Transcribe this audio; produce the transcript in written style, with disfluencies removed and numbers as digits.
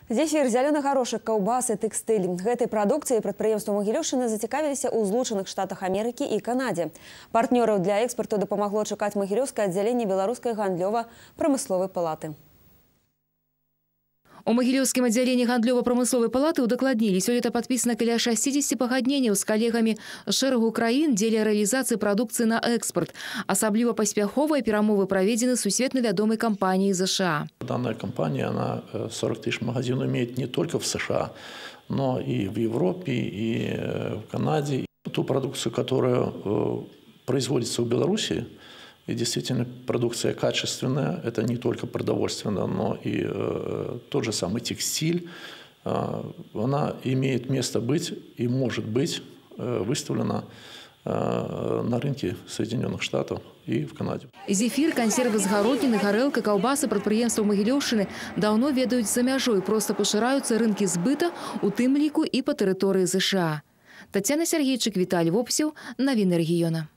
Зефир, зеленый горошек, каўбасы, тэкстыль. Гэтай прадукцыяй прадпрыемствы Магілёўшчыны зацікавіліся ў Злучаных Штатах Амерыкі і Канадзе. Партнёраў для экспарту дапамагло чакаць магілёўскае аддзяленне Беларускай гандлёва-прамысловай палаты. У Магілёўскім аддзяленні гандлёва-прамысловай палаты удакладнілі, сёлета падпісана каля 60 пагадненняў з калегамі шэрагу краін дзеля рэалізацыі прадукцыі на экспорт. Асабліва паспяховыя перамовы праведзены сусветна вядомай кампаніяй США. Данная компания, она 40 тысяч магазинов имеет не только в США, но и в Европе, и в Канаде. Ту продукцию, которая производится в Беларуси, и действительно продукция качественная, это не только продовольственная, но и тот же самый текстиль, она имеет место быть и может быть выставлена на рынке Соединенных Штатов и в Канаде. Зефир, консервы з гародніны, гарэлка, каўбасы прадпрыемстваў Магілёўшчыны даўно ведаюць за мяжой, просто пашыраюцца рынкі збыта, у тым ліку і па тэрыторыі США. Тацяна Сергейчык, Віталій Вопсеў, навіны рэгіёна.